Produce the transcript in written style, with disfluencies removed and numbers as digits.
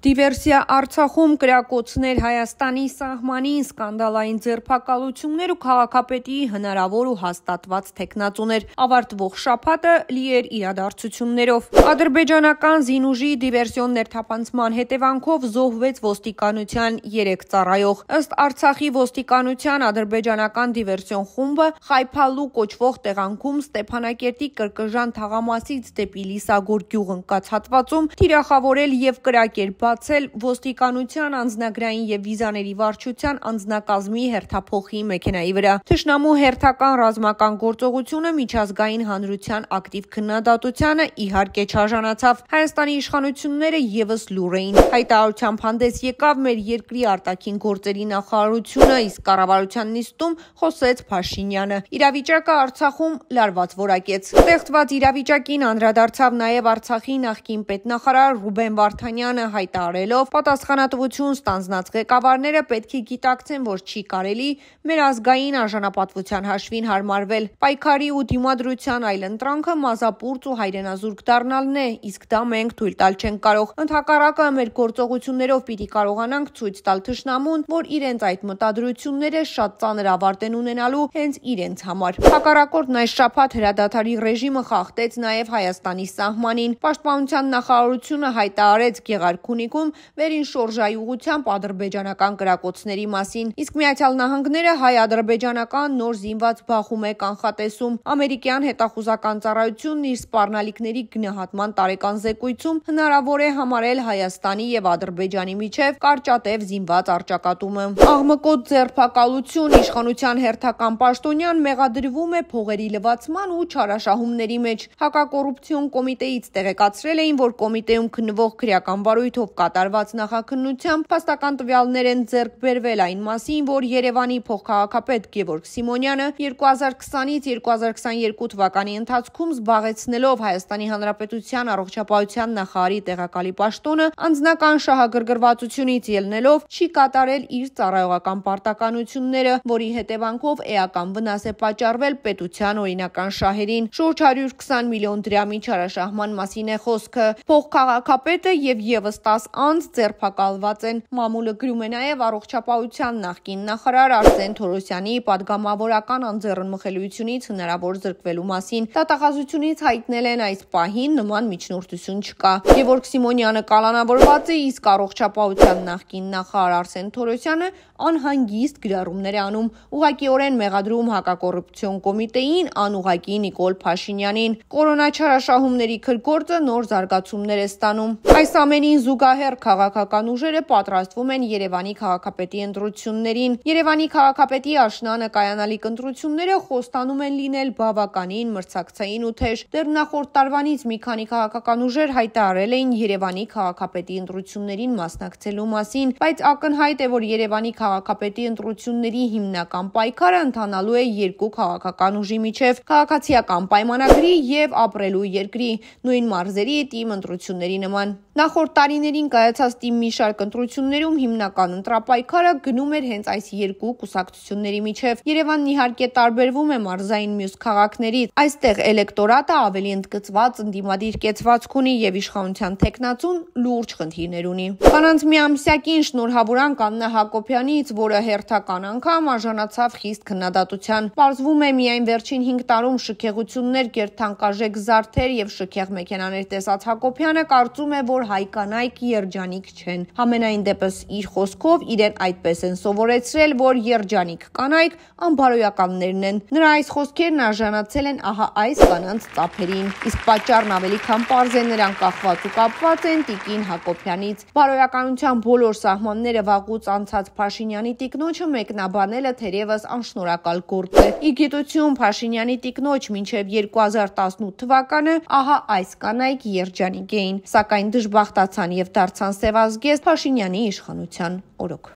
Դիվերսիա Արցախում, կրակոցներ Հայաստանի սահմանին, սկանդալային ձերբակալություններ ու քաղաքապետի հնարավոր ու հաստատված թեկնածուներ, ավարտվող շաբաթը լի էր իրադարձություններով։ Ադրբեջանական զինուժի դիվերսիոն ներթափանցման հետևանքով զոհվեց ոստիկանության 3 ծառայող։ Ըստ Արցախի ոստիկանության, ադրբեջանական դիվերսիոն խումբը Խայփալու կոչվող տեղանքում Ստեփանակերտի Կրկժան թաղամասից դեպի Լիսագոր գյուղ ընկած հատվածում թիրախավորել եւ կրակել բացել ոստիկանության անձնագրային եւ վիզաների վարչության անձնակազմի հերթափոխի մեքենայի վրա։ Թշնամու հերթական ռազմական գործողությունը միջազգային հանրության ակտիվ քննադատությանը իհարկե չարժանացավ։ Հայաստանի իշխանությունները եւս լուռ էին։ Հայտարարությամբ հանդես եկավ մեր երկրի արտաքին գործերի նախարարությունը, իսկ կառավարության նիստում խոսեց Փաշինյանը։ Իրավիճակը Արցախում լարված որակեց։ Ստեղծված իրավիճակին անդրադարձավ նաեւ Արցախի նախկին պետնախարար Ռուբեն Վարդանյանը, հայտարարելով պատասխանատվություն ստանձնած ղեկավարները պետք է գիտակցեն, որ չի կարելի մեր ազգային արժանապատվության հաշվին հարմարվել։ Պայքարի ու դիմադրության այլընտրանքը մազապուրծ ու հայրենազուրկ դառնալն է, իսկ դա մենք թույլ տալ չենք կարող։ Ընդհակառակը մեր գործողություններով պիտի կարողանանք ցույց տալ թշնամուն, որ իրենց այդ մտադրությունները շատ ծանր ավարտ են ունենալու հենց իրենց համար։ Հակառակորդն այս շաբաթ հրադադարի ռեժիմը խախտեց նաև Հայաստանի սահմանին։ Պաշտպանության նախարարությունը հայտարարեց Գեղարքունիքում վերին շորժայի ուղղությամբ ադրբեջանական կրակոցների մասին, իսկ Միացյալ Նահանգները հայ-ադրբեջանական նոր զինված բախում է կանխատեսում։ Ամերիկյան հետախուզական ծառայությունն իր սպառնալիքների գնահատման տարեկան զեկույցում հնարավոր է համարել Հայաստանի եւ Ադրբեջանի միջև կարճատև զինված առճակատումը։ Աղմկոտ ձերբակալություն իշխանության հերթական պաշտոնյան մեղադրվում է փողերի լվացման ու չարաշահումների մեջ։ Հակակոռուպցիոն կոմիտեից տեղեկացրել էին, որ կոմիտեում քննվող քրեական բարույթով կատարված նախաքննությամբ փաստական տվյալներ են ձեռք բերվել այն մասին, որ Երևանի փոխքաղաքապետ Գևորգ Սիմոնյանը 2020-ից 2022 թվականի ընթացքում զբաղեցնելով Հայաստանի Հանրապետության առողջապահության նախարարի տեղակալի պաշտոնը, անձնական շահագրգռվածությունից ելնելով չի կատարել իր ծառայողական պարտականությունները, որի հետևանքով էական վնաս է պատճառվել պետության օրինական շահերին։ Շուրջ 120 միլիոն դրամի չարաշահման մասին է խոսքը։ Փոխքաղաքապետը եւ եւս 10 անձ ձերբակալված են։ Մամուլը գրում է նաեւ առողջապահության նախկին նախարար Արսեն Թորոսյանի պատգամավորական անձեռնմխելիությունից հնարավոր զրկվելու մասին։ Դատախազությունից հայտնել են այս պահին նման միջնորդություն չկա։ Գևորգ Սիմոնյանը կալանավորված է, իսկ առողջապահության նախկին նախարար Արսեն Թորոսյանը անհանգիստ գրառումներ է անում, ուղղակիորեն մեղադրում հակակոռուպցիոն կոմիտեին, անուղղակի Նիկոլ Փաշինյանին։ Կորոնա չարաշահումների քրգործը նոր զարգացումներ է ստանում։ Այս ամենին զուգահեռ քաղաքական ուժերը պատրաստվում են Երևանի քաղաքապետի ընտրություններին։ Երևանի քաղաքապետի աշնանը կայանալիք ընտրությունները խոստանում են լինել բավականին մրցակցային ու թեժ։ Դեռ նախորդ տարվանից մի քանի քաղաքական ուժեր հայտարարել էին Երևանի քաղաքապետի ընտրություններին մասնակցելու մասին, բայց ակնհայտ է, որ Երևանի քաղաքապետի ընտրությունների հիմնական պայքարը ընթանալու է երկու քաղաքական ուժի միջև՝ քաղաքացիական պայմանագրի եւ ապրելու երկրի նույն մարզերի թիմ ընտրությունների նման։ Նախորդ տարիներին կայացած թիմ մի շարք ընտրություններում հիմնական ընտրապայքարը գնում էր հենց այս երկու կուսակցությունների միջև։ Երևանն իհարկե տարբերվում է մարզային մյուս քաղաքներից։ Այստեղ էլեկտորատը ավելի ընդգծված ընդդիմադիր կեցվածք ունի եւ իշխանության թեկնածուն լուրջ խնդիրներ ունի։ Կանանց միամսյակին շնորհավորանք Աննա Հակոբյանից, որը հերթական անգամ արժանացավ խիստ քննադատության։ Պարզվում է միայն վերջին 5 տարում շքեղություններ, գերթանկարժեք զարդեր եւ շքեղ մեքենաներ տեսած Հակոբյանը կարծում է, որ հայ կանայք երջանիկ չեն։ Համենայն դեպս իր խոսքով իրեն այդպես են սովորեցրել, որ երջանիկ կանայք անբարոյականներն են։ Նրա այս խոսքերն արժանացել են ահա այս կանանց ծափերին, իսկ պատճառն ավելի քան պարզ է, նրանք կախված ու կապված են Տիկին Հակոբյանից։ Բարոյականության բոլոր սահմանները վաղուց անցած Փաշինյանի տիկնոջը մեկնաբանելը թերևս անշնորհակալ գործ է։ Ի գիտություն Փաշինյանի տիկնոջ մինչև 2018 թվականը ահա այս կանայք երջանիկ էին, սակայն դժբախտացան եւ դարձան սևազգեստ Փաշինյանի իշխանության օրոք։